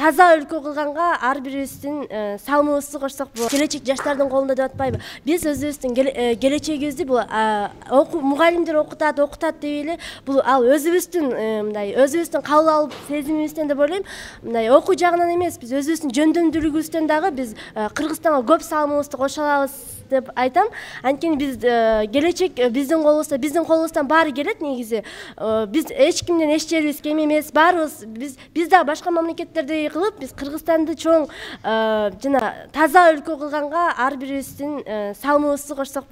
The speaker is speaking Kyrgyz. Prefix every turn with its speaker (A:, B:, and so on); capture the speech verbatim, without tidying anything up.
A: таза өлкө кылганга ар бирибиздин салымыбызды кошсок болот. Келечек жаштардын колунда деп атпайбы? Биз өзүбүздүн келечегибизди бул мугалимдер окутат, окутат деп эле бул ал өзүбүздүн мындай өзүбүздүн кабыл алып сезимибизден деп ойлойм. Мындай окуу жагынан эмес, биз өзүбүздүн жөндөмдүүлүгүбүздөн дагы биз Кыргызстанга көп салымыбызды кошо алабыз деп айтам. Анткени биз келечек биздин колубузда, биздин колубуздан баары келет негизи. Биз эч кимден эч жерибиз кем эмес. Баарыбыз биз биз да башка мамлекеттердей кылып, биз Кыргызстанды чоң жана таза өлкө кылганга ар бирибиздин салымыбызды кошсок болот.